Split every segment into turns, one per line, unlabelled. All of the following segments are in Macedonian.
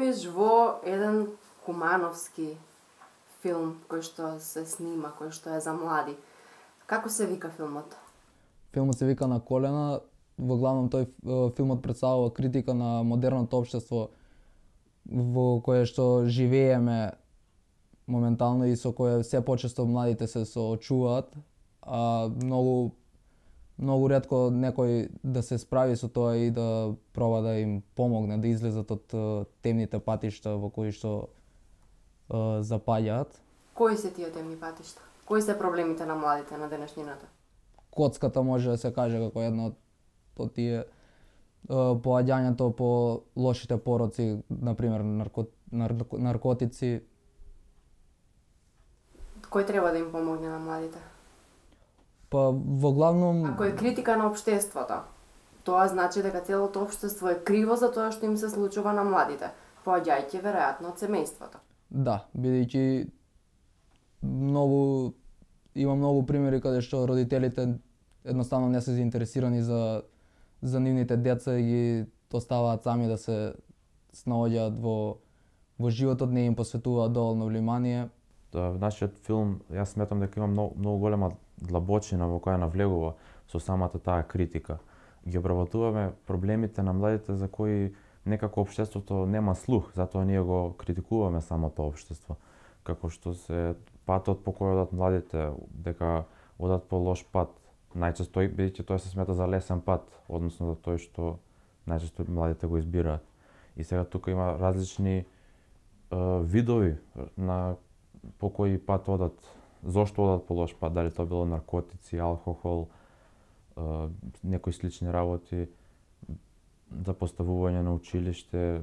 глумиш во еден кумановски филм кој што се снима, кој што е за млади. Како се вика филмот?
Филмот се вика На колена. Во главном тој филмот представува критика на модерното општество во кое што живееме моментално и со кое се почесто младите се соочуваат, а многу ретко некој да се справи со тоа и да проба да им помогне да излезат од темните патишта во кои што запаѓаат.
Кои се тие темни патишта? Кои се проблемите на младите на денешнината?
Коцката може да се каже како една од тие, поаѓањето по лошите пороци, например наркотици.
Кој треба да им помогне на младите?
Па во главном
Ако е критика на општеството, тоа значи дека целото општество е криво за тоа што им се случува на младите, поаѓајќи веројатно од семејството.
да, бидејќи има многу примери каде што родителите едноставно не се заинтересирани за нивните деца и ги оставаат сами да се снаоѓаат во животот, не им посветуваат доволно внимание.
Нашиот филм, јас сметам дека има многу голема длабочина во која навлегува со самата таа критика. Ги обработуваме проблемите на младите за кои некако општеството нема слух, затоа ние го критикуваме самото општество. Како што се патот по кој одат младите, дека одат по лош пат, најчесто бидејќи тоа се смета за лесен пат, односно за тој што најчесто младите го избираат. И сега тука има различни видови на по кој пат одат, зошто одат по лош пат, дали тоа било наркотици, алкохол, некои слични работи, за поставување на училиште.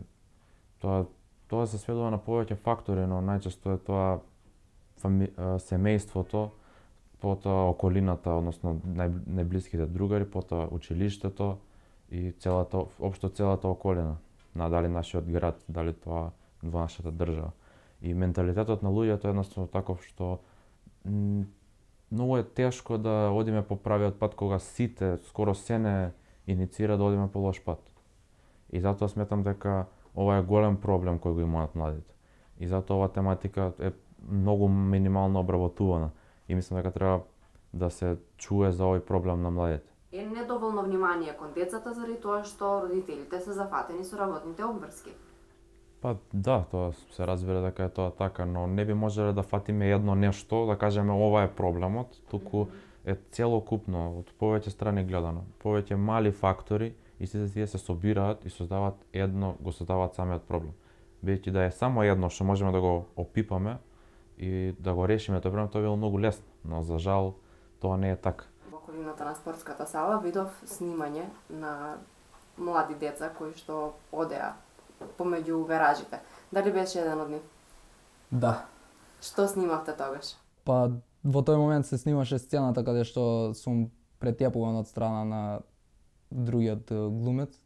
Тоа се сведува на повеќе фактори, но најчесто е тоа семејството, потоа околината, односно најблиските другари, потоа училиштето и општо целата околина, дали нашиот град, дали тоа во нашата држава. И менталитетот на луѓето е едноставно таков што многу е тешко да одиме по правиот пат кога сите, скоро се не иницира да одиме по лош пат. И затоа сметам дека ова е голем проблем кој го имаат младите. И затоа ова тематика е многу минимално обработувана. И мислам дека треба да се чуе за овој проблем на младите.
Е недоволно внимание кон децата заради тоа што родителите се зафатени со работните обврски.
Па да, тоа се разбира дека е тоа така, но не би можеле да фатиме едно нешто, да кажеме ова е проблемот, туку е целокупно, од повеќе страни гледано, повеќе мали фактори и сите тие се собираат и го создаваат самиот проблем. Бидејќи да е само едно што можеме да го опипаме и да го решиме тој проблем, тоа било многу лесно, но за жал тоа не е така.
Во околината на спортската сала видов снимање на млади деца кои што одеа помеѓу гаражите. Дали беше еден од нив?
Да.
Што снимавте тогаш?
Па во тој момент се снимаше сцената каде што сум претјапуван од страна на другиот глумец,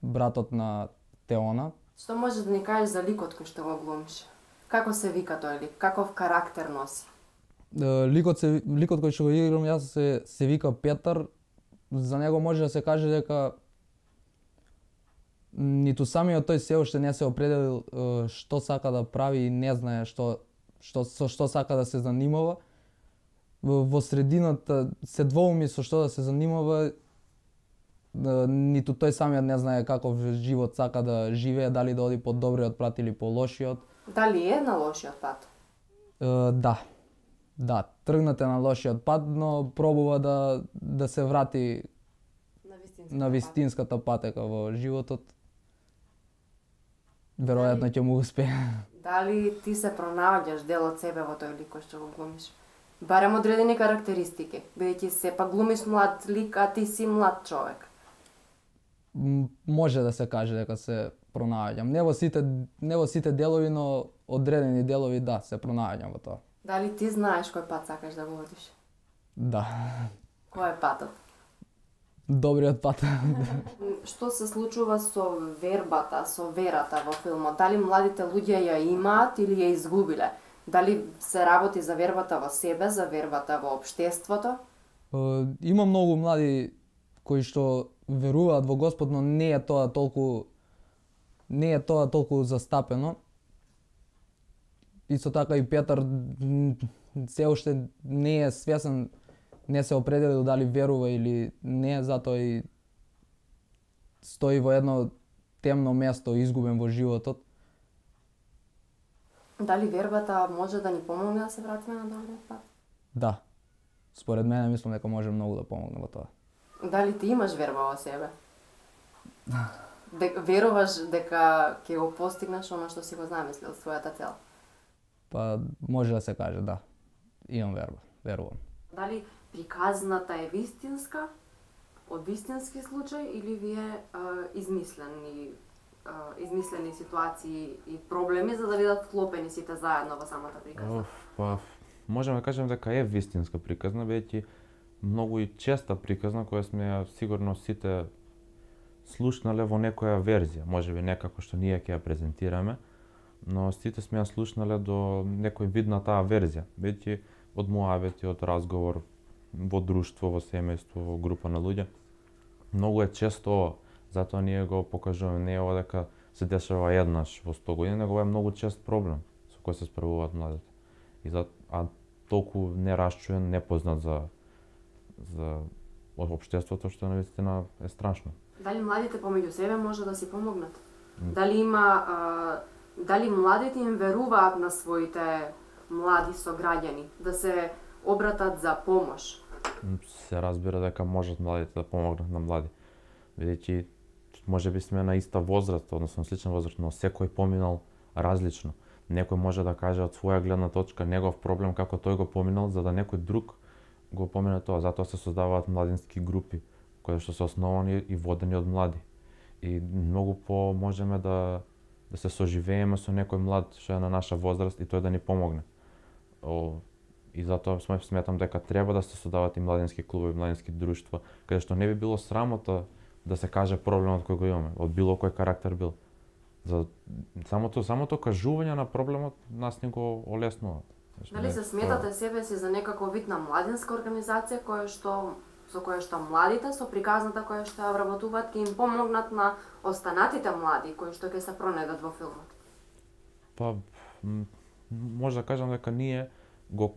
братот на Теона.
Што можеш да ни кажеш за ликот кој што го глумиш? Како се вика тој лик? Каков карактер носи?
Ликот кој што го играм јас се вика Петар. За него може да се каже дека ниту самиот тој се уште не се определил што сака да прави и не знае со што сака да се занимава. Во средината се двоуми со што да се занимава, ниту тој самиот не знае каков живот сака да живее, дали да оди по добриот пат или по лошиот.
Дали е на лошиот пат?
Да, тргнате на лошиот пат, но пробува да се врати на вистинската патека во животот. Веројатно ќе му успее.
Дали ти се пронаоѓаш дел од себе во тој лик кој што го глумиш? Барем одредени карактеристики, бидејќи сепак глумиш млад лик, а ти си млад човек.
Може да се каже дека се пронаоѓам. Не во сите делови, но одредени делови да, се пронаоѓам во тоа.
Дали ти знаеш кој пат сакаш да го одиш?
Да.
Кој е патот?
Добриот пат.
Што се случува со вербата, со верата во филмот? Дали младите луѓе ја имаат или ја изгубиле? Дали се работи за вербата во себе, за вербата во општеството?
Има многу млади кои што веруваат во Господ, но не е тоа толку не е тоа толку застапено. Исто така и Петар се уште не е свесен, не се определил дали верува или не, затоа и стои во едно темно место, изгубен во животот.
Дали вербата може да ни помогне да се вратиме на добриот пат?
Да. Според мене мислам дека може многу да помогне во тоа.
Дали ти имаш верба во себе? Веруваш дека ќе го постигнеш она што си го замислил, својата цел?
Па може да се каже, да. Имам верба, верувам.
Дали приказната е вистинска, од вистински случај, или ви е измислени ситуации и проблеми за да бидат вклопени сите заедно во самата приказна?
Па, можеме да кажеме дека е вистинска приказна, бидејќи многу и честа приказна која сме ја сигурно сите слушнале во некоја верзија, можеби некако што ние ќе ја презентираме, но сите сме ја слушнале до некој вид на таа верзија, бидејќи од муабети, од разговор во друштво, во семејство, во група на луѓе. Многу е често ова, затоа ние го покажуваме, не е ова дека се дешава еднаш во 100 години, него е многу чест проблем со кој се справуваат младите. А толку нерасчуен, непознат за општеството, што навистина е страшно.
Дали младите помеѓу себе може да си помогнат? Дали младите им веруваат на своите млади сограѓани, да се обратат за помош?
Се разбира дека можат младите да помогнат на млади. Бидејќи можеби сме на иста возраст, односно слична возраст, но секој поминал различно. Некој може да каже од своја гледна точка негов проблем како тој го поминал, за да некој друг го помине тоа. Затоа се создаваат младински групи кои што се основани и водени од млади. И многу можеме да се соживееме со некој млад што е на наша возраст и тој да ни помогне. И затоа сметам дека треба да се создаваат и младински клубови, младински друштва, каде што не би било срамота да се каже проблемот кој го имаме, од било кој карактер бил. За самото кажување на проблемот нас ни го олеснува.
Дали се сметате себе си за некаков вид на младинска организација со која што младите со приказната која што ја вработуваат ќе им помогнат на останатите млади кои што ќе се пронедат во филмот?
Па може да кажам дека ние го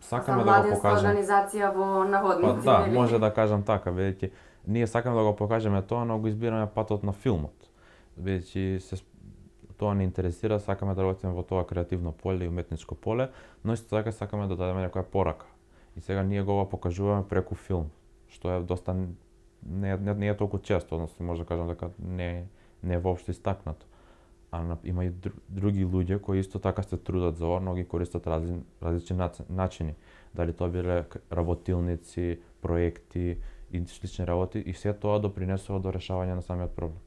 сакаме да го покажеме.
Организација во наводници.
Па да, може да кажам така, бидејќи ние сакаме да го покажеме тоа, но го избираме патот на филмот. Бидејќи тоа не интересира, сакаме да работиме во тоа креативно поле и уметничко поле, но исто така сакаме да дадеме некоја порака. И сега ние го покажуваме преку филм, што е доста не е толку често, односно може да кажам дека не е воопшто истакнато. А има и други луѓе кои исто така се трудат за ова, но ги користат различни начини. Дали тоа биле работилници, проекти и слични работи, и се тоа допринесува до решавање на самиот проблем.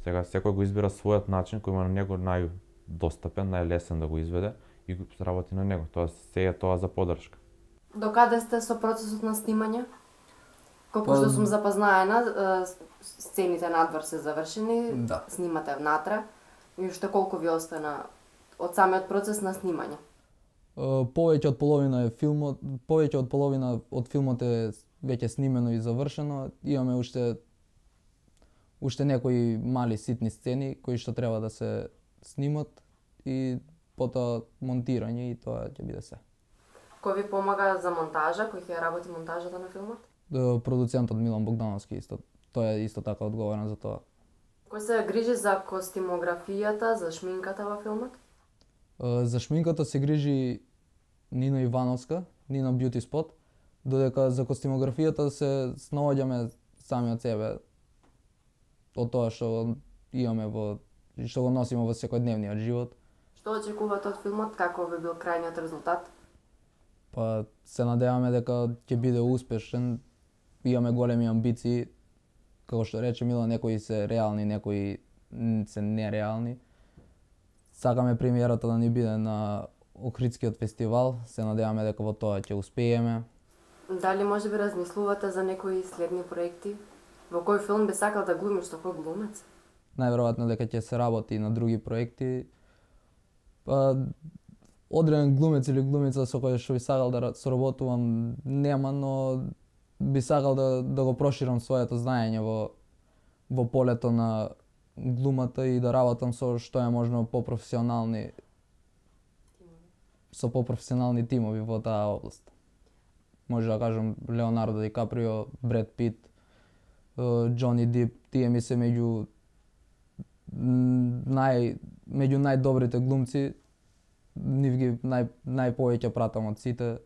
Сега секој го избира својот начин кој на него најдостапен, најлесен да го изведе и го работи на него. Тоа се е тоа за поддршка.
Докаде сте со процесот на снимање? Колку што сум запознаена, сцените надвор се завршени,
Да.
Снимате внатре. И уште колку ви остана од самиот процес на снимање?
Повеќе од половина од филмот е веќе снимено и завршено. Имаме уште некои мали ситни сцени кои што треба да се снимат и потоа монтирање, и тоа ќе биде се.
Кој ви помага за монтажа, кој ќе работи монтажата на филмот?
Продуцентот Милан Богдановски тој е исто така одговорен за тоа.
Кој се грижи за костимографијата, за шминката во филмот?
За шминката се грижи Нина Ивановска, Нина Beauty Spot, додека за костимографијата се снаоѓаме сами од себе, од тоа што имаме што го носиме во секојдневниот живот.
Што очекувате од филмот, како би бил крајниот резултат?
Па се надеваме дека ќе биде успешен, имаме големи амбиции, како што рече Мила, некои се реални, некои се нереални. Сакаме премиерата да ни биде на Охридскиот фестивал, се надеваме дека во тоа ќе успееме.
Дали може би размислувате за некои следни проекти? Во кој филм би сакал да глумиш, со кој глумец?
Најверојатно дека ќе се работи на други проекти. Па, одреден глумец или глумица со кој што би сакал да соработувам нема, но би сакал да го проширам своето знаење во полето на глумата и да работам со што е можно попрофесионални тимови во таа област. Може да кажам Леонардо Ди Каприо, Бред Пит, Џони Дип, тие ми се меѓу најдобрите глумци, нив ги најповеќе пратам од сите.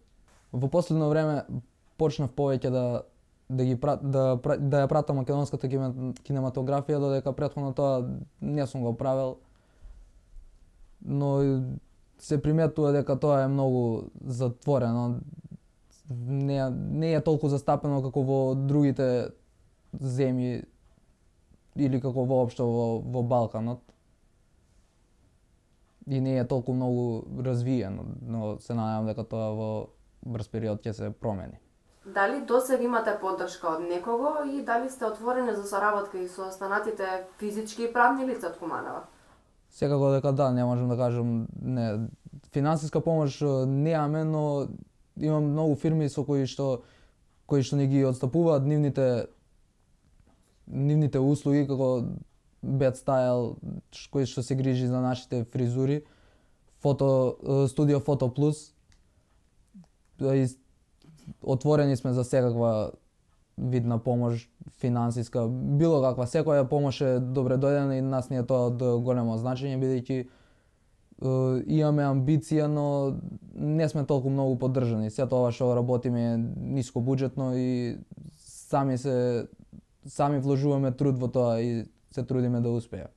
Во последно време почнав повеќе да ја пратам македонската кинематографија, додека претходно тоа не сум го правел. Но се приметува дека тоа е многу затворено. Не е толку застапено како во другите земји или како воопшто во Балканот. И не е толку многу развиено, но се надевам дека тоа во брз период ќе се промени.
Дали досега имате поддршка од некого и дали сте отворени за соработка и со останатите физички и правни лица од Куманова?
Секако дека да, не можам да кажам не. Финансиска помош немаме, но имам многу фирми со кои што ни ги отстапуваат нивните услуги, како Bad Style, кој што се грижи за нашите фризури, студио Фото Плюс. Отворени сме за секаква вид на помош финансиска, било каква, секоја помош е добре дојдена и нас ни е тоа од големо значење, бидејќи имаме амбиција, но не сме толку многу поддржани. Се тоа што работиме е ниско буџетно и сами вложуваме труд во тоа и се трудиме да успееме.